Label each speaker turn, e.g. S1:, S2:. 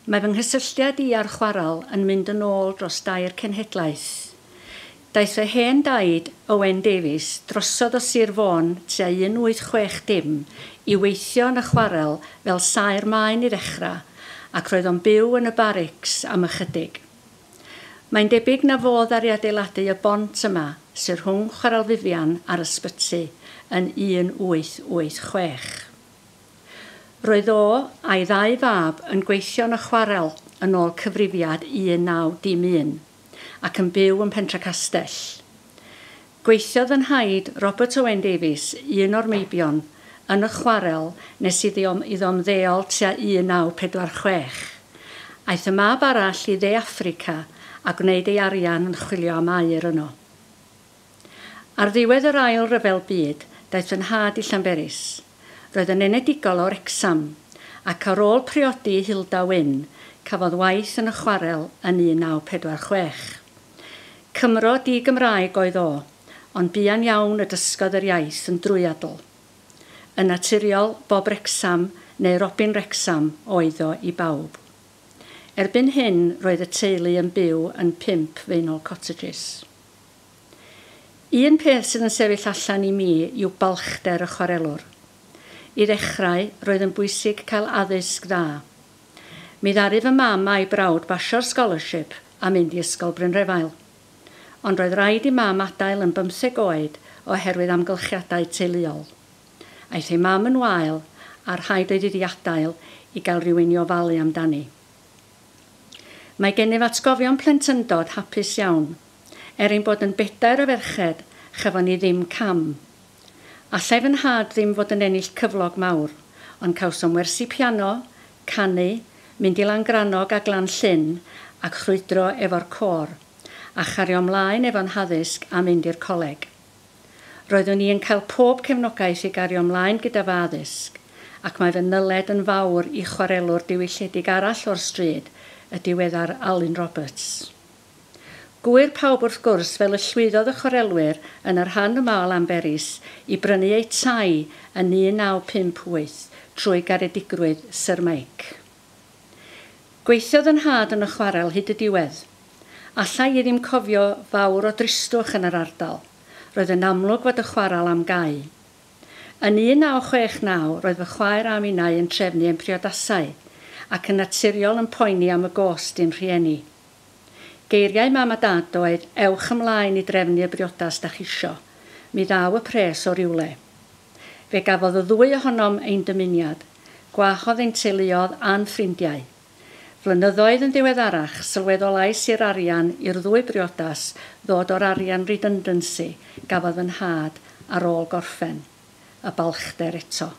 S1: Mae fy nghysylltiad i â'r chwarel yn mynd yn ôl dros dair cenhedlaeth. Daeth fy hen daid, Owen Davies, drosodd o Sir Fôn tua 1860 i weithio yn y chwarel fel saer maen i ddechrau ac roedd o'n byw yn y barics am ychydig. Mae'n debyg na fo ddaru adeiladu y bont yma sydd rhwng Chwarel Vivian a'r ysbyty yn 1886. Roedd o a'i ddau fab yn gweithio yn y chwarel yn ôl cyfrifiad 1901 ac yn byw yn Pentre Castell. Gweithiodd fy nhaid, Robert Owen Davies, un o'r meibion, yn y chwarel nes iddo ymddeol tua 1946. Aeth y mab arall i Dde Affrica a gwneud ei arian yn chwilio am aur yno. Ar ddiwedd yr Ail Ryfel Byd, daeth fy nhad i Llanberis. Roedd yn enedigol o Wrecsam, ac ar ôl priodi Hilda Wyn, cafodd waith yn y chwarel yn 1946. Cymro di-Gymraeg oedd o, ond buan iawn y dysgodd yr iaith yn drwyadl. Yn naturiol, Bob Wrecsam neu Robin Wrecsam oedd o i bawb. Erbyn hyn, roedd y teulu yn byw yn 5 Faenol Cottages. Un peth sydd yn sefyll allan i mi yw balchder y chwarelwr. I ddechrau, roedd yn bwysig cael addysg dda. Mi ddaru fy mam a'i brawd basio'r scholarship a mynd i Ysgol Brynrefail. Ond roedd rhaid i mam adael yn 15 oed oherwydd amgylchiadau teuluol. Aeth ei mam yn wael a rhaid oedd iddi adael i gael rhywun i ofalu amdani. Mae gennyf atgofion plentyndod hapus iawn. Er ein bod yn bedair o ferched, chafon ni ddim cam. Allai fy nhad ddim fod yn ennill cyflog mawr, ond cawsom wersi piano, canu, mynd i Langrannog a Glan Llyn ac chrwydro efo'r côr, a chario ymlaen efo'n haddysg a mynd i'r coleg. Roeddwn i yn cael pob cefnogaeth i gario ymlaen gyda fy addysg, ac mae fy nyled yn fawr i chwarelwr diwylliedig arall o'r stryd, y diweddar Alun Roberts. Gŵyr pawb wrth gwrs fel y llwyddodd y chwarelwyr yn y rhan yma o Lanberis i brynu eu tai yn 1958 trwy garedigrwydd Sir Mike. Gweithiodd yn nhad yn y chwarel hyd y diwedd. Alla i ddim cofio fawr o dristwch yn yr ardal. Roedd yn amlwg fod y chwarel am gau. Yn 1969 roedd fy chwaer a minnau yn trefnu ein priodasau ac yn naturiol yn poeni am y gost i'n rhieni. Geiriau mam a dad oedd, ewch ymlaen i drefnu y briodas dach isio. Mi ddaw y pres o rywle. Fe gafodd y ddwy ohonom ein dymuniad, gwahodd ein teuluodd a'n ffrindiau. Flynyddoedd yn ddiweddarach, sylweddolais i'r arian i'r ddwy briodas ddod o'r arian redundancy gafodd fy nhad ar ôl gorffen. Y balchder eto.